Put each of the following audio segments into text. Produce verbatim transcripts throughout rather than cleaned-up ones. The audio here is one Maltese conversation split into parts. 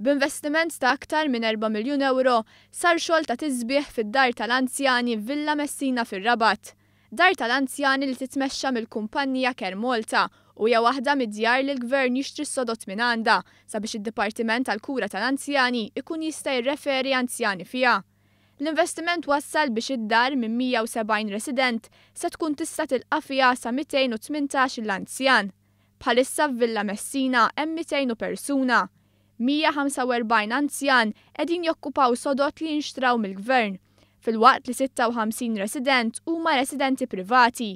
B'investiment ta' aktar minn erba' miljun euro sar xogħol ta' tisbieħ fid-dar tal-anzjani Villa Messina fir-Rabat. Dar tal-anzjani li titmexxa mill-kumpanija Care Malta u hija waħda mid-djar li l-gvern jixtri s-sodod minn għandha sabiex id-Dipartiment tal-Kura tal-Anzjani ikun jista' jirreferi anzjani fiha. L-investiment wassal biex id-dar minn mija u sebgħin resident se tkun tista' tilqa' fiha sa mitejn u tmintax il-anzjan. Bħalissa f'Villa Messina hemm mitejn u persuna. mija ħamsa u erbgħin anzjan qegħdin jokkupaw sodod li jinxtraw mill-gvern, filwaqt li sitta u ħamsin resident huma residenti privati.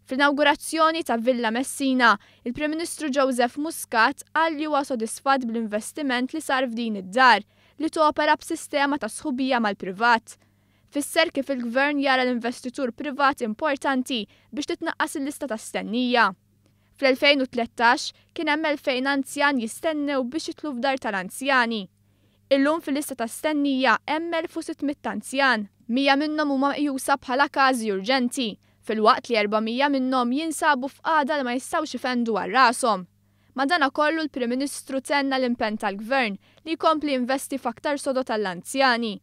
Fl-inaugurazzjoni ta' Villa Messina, il-Prim Ministru Joseph Muscat qal li huwa sodisfatt bl-investiment li sar f'din id-dar li topera b'sistema ta' sħubija mal-privat. Fisser kif il-gvern jara l-investitur privat importanti biex titnaqqas il-lista ta' stennija. Fl-elfejn u tlettax kien hemm elfejn anzjan jistennew biex jidħlu f'dar tal-anzjani. Illum fil-lista ta' stennija hemm elf u sitt mitt anzjan, mija minnhom huma meqjusa bħala każi urġenti, filwaqt li erba' mija minnhom jinsabu f'qagħda li ma jistgħux ifendu għal rashom. Madanakollu l-Prim Ministru tenna l-impenn tal-Gvern li jkompli investi f'aktar sodod tal-anzjani.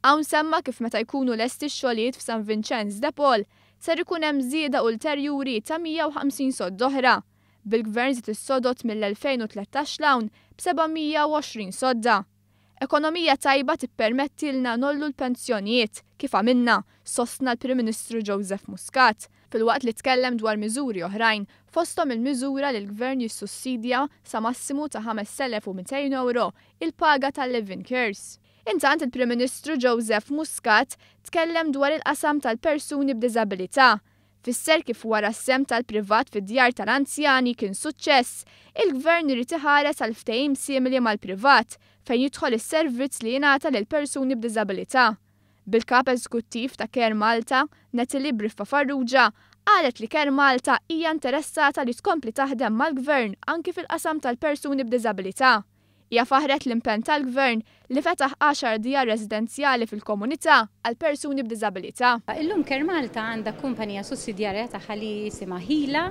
Hawn semma kif meta jkunu lesti x-xogħlijiet f'San Vincenz de Paul ser ikun hemm żieda ulterjuri ta' mija u ħamsin sodda oħra. Bil-Gvern żied is-sodod mill-elfejn u tlettax l-hawn b'seba' mija u għoxrin sodda. Ekonomija tajba tippermettilna nollu l-pensjonijiet kif għamilna, sostna l-Prim Ministru Joseph Muscat, filwaqt li tkellem dwar miżuri oħrajn, fosthom il-miżura li l-Gvern jissussidja sa massimu ta' ħames elef u mitejn euro il-paga tal-Living Cares. Intant il-Prim Ministru Joseph Muscat tkellem dwar il-qasam tal-persuni b'diżabilità. Fisser kif wara s-sem tal-privat fid-djar tal-anzjani kien suċċess, il-Gvern irid iħares għal ftehim simili mal-privat fejn jidħol is-servizz li jingħata lil persuni b'diżabilità. Bil-kap eżekuttiv ta' Care Malta, Natalie Briffa Farrugia, qalet li Care Malta hija interessata li tkompli taħdem mal-Gvern anki fil-qasam tal-persuni b'diżabilità. Hija faħret l-impenn tal-Gvern li fetaħ għaxar djar residenzjali fil-komunità għal persuni b'diżabilità. Illum Care Malta għandha kumpanija sussidjarja tagħha li jisimha Ħila,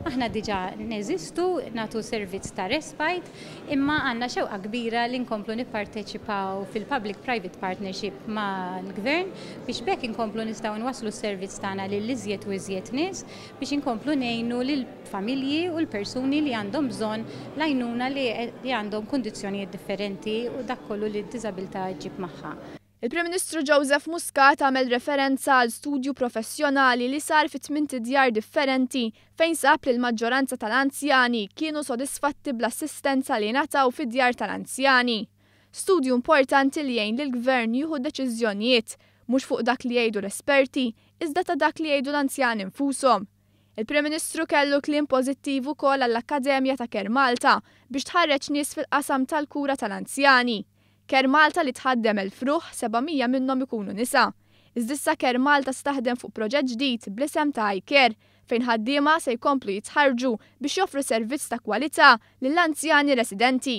aħna diġà neżistu, nagħtu servizz ta' respite, imma għandna xewqa kbira li nkomplu nipparteċipaw fil-Public-Private Partnership mal-Gvern biex b'hekk inkomplu nistgħu nwasslu s-servizz tagħna lil iżjed u iżjed nies biex inkomplu ngħinu lil familji u l-persuni li għandhom bżonn l-għajnuna li, li għandhom kundizzjonijiet differenti u dak kollu li d-diżabilità ġġib magħha. Il-Prim Ministru Joseph Muscat għamel referenza għal studju professjonali li sar fi tmien djar differenti fejn sab li l-maġġoranza tal-anzjani kienu sodisfatti bl-assistenza li ngħataw fid-djar tal-anzjani. Studju importanti li jgħin lill-Gvern jieħu deċiżjonijiet mhux fuq dak li jgħidu l-esperti, iżda ta' dak li jgħidu l-anzjani nfushom. Il-Prim Ministru kellu kliem pożittiv ukoll għall-Akkademja ta' Care Malta biex tħarreġ nies fil-qasam tal-kura tal-anzjani. Care Malta li tħaddem elf ruħ, seba' mija minnhom ikunu nisa. Iżda issa Care Malta staħdem fuq proġett ġdid bl-isem ta' iCare fejn ħaddiema se jkomplu jitħarġu biex joffru servizz ta' kwalità lill-anzjani residenti.